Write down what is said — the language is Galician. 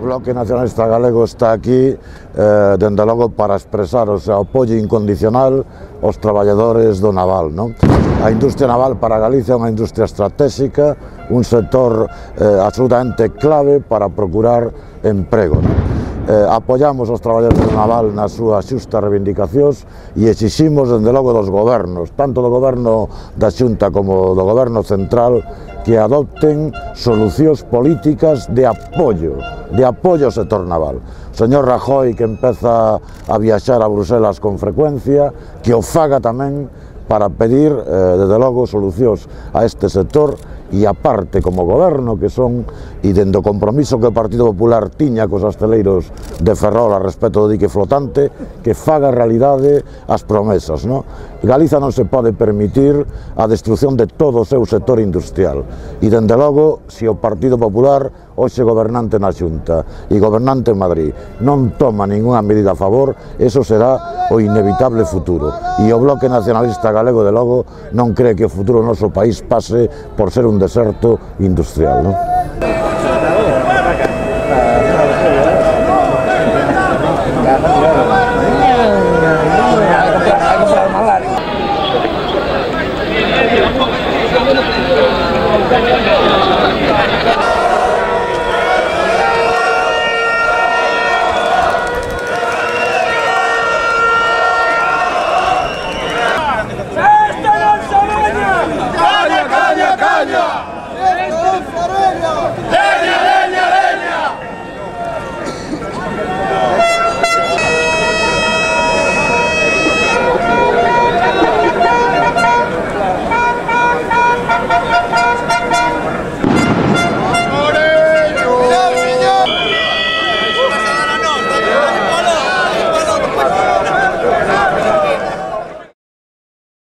Bloque Nacionalista Galego está aquí, dende logo, para expresar o seu apoio incondicional aos traballadores do naval, non? A industria naval para Galicia é unha industria estratégica, un sector absolutamente clave para procurar emprego, non? Apoiamos os traballadores do naval nas súas xustas reivindicacións e exiximos, dende logo, dos gobernos, tanto do goberno da Xunta como do goberno central, que adopten solucións políticas de apoio ao sector naval. O señor Rajoy, que empeza a viaxar a Bruselas con frecuencia, que o faga tamén para pedir, desde logo, solucións a este sector, e aparte, como goberno que son, e dende o compromiso que o Partido Popular tiña cos asteleiros de Ferrol a respecto do dique flotante, que faga realidade as promesas, non? Galiza non se pode permitir a destrucción de todo o seu sector industrial, e dende logo, se o Partido Popular, hoxe gobernante na Xunta e gobernante en Madrid, non toma ningunha medida a favor, eso será o inevitable futuro, e o Bloque Nacionalista Galego, de logo, non cree que o futuro do noso país pase por ser un deserto industrial, non?